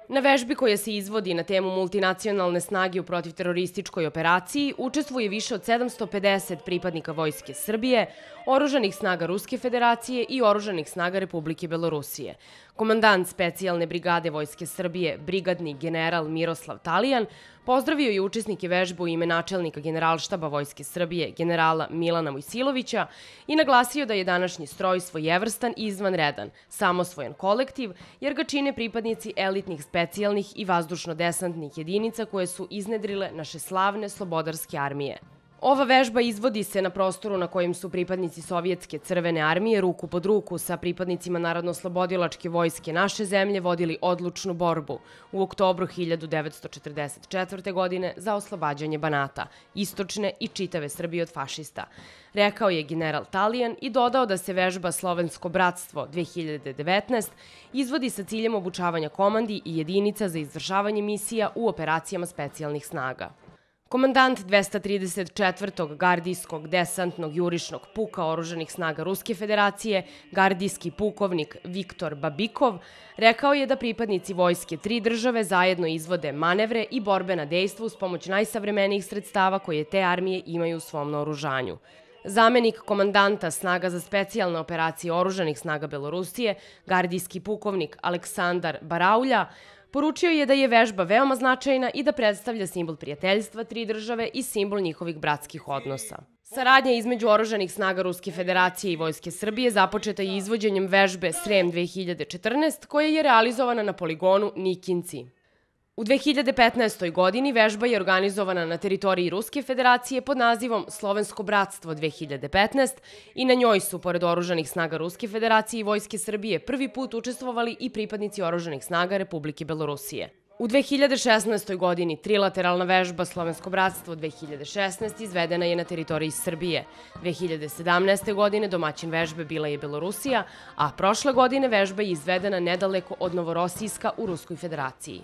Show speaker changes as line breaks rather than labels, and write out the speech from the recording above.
Na vežbi koja se izvodi na temu multinacionalne snage u protivterorističkoj operaciji učestvuje više od 750 pripadnika Vojske Srbije, oružanih snaga Ruske federacije i oružanih snaga Republike Belorusije. Komandant specijalne brigade Vojske Srbije, brigadni general Miroslav Talijan, pozdravio je učesnike vežbe u ime načelnika Generalštaba Vojske Srbije, generala Milana Mojsilovića, i naglasio da je današnji stroj svojevrstan i izvanredan, samosvojan kolektiv, jer ga čine pripadnici elitnih specijalnih i vazdušno-desantnih jedinica koje su iznedrile naše slavne slobodarske armije. Ova vežba izvodi se na prostoru na kojem su pripadnici Sovjetske crvene armije ruku pod ruku sa pripadnicima Narodno-oslobodilačke vojske naše zemlje vodili odlučnu borbu u oktobru 1944. godine za oslobađanje Banata, istočne i čitave Srbije od fašista, rekao je general Talijan i dodao da se vežba Slovensko bratstvo 2019 izvodi sa ciljem obučavanja komandi i jedinica za izvršavanje misija u operacijama specijalnih snaga. Komandant 234. gardijskog desantnog jurišnog puka oružanih snaga Ruske federacije, gardijski pukovnik Viktor Babikov, rekao je da pripadnici vojske tri države zajedno izvode manevre i borbena dejstva uz pomoć najsavremenijih sredstava koje te armije imaju u svom naoružanju. Zamenik komandanta snaga za specijalne operacije oružanih snaga Belorusije, gardijski pukovnik Aleksandar Baraulja, poručio je da je vežba veoma značajna i da predstavlja simbol prijateljstva tri države i simbol njihovih bratskih odnosa. Saradnja između oružanih snaga Ruske federacije i Vojske Srbije započeta je izvođenjem vežbe Srem 2014, koja je realizovana na poligonu Nikinci. U 2015. godini vežba je organizovana na teritoriji Ruske federacije pod nazivom Slovensko bratstvo 2015 i na njoj su, pored oružanih snaga Ruske federacije i Vojske Srbije, prvi put učestvovali i pripadnici oružanih snaga Republike Belorusije. U 2016. godini trilateralna vežba Slovensko bratstvo 2016 izvedena je na teritoriji Srbije. 2017. godine domaćin vežbe bila je Belorusija, a prošle godine vežba je izvedena nedaleko od Novorosijska u Ruskoj federaciji.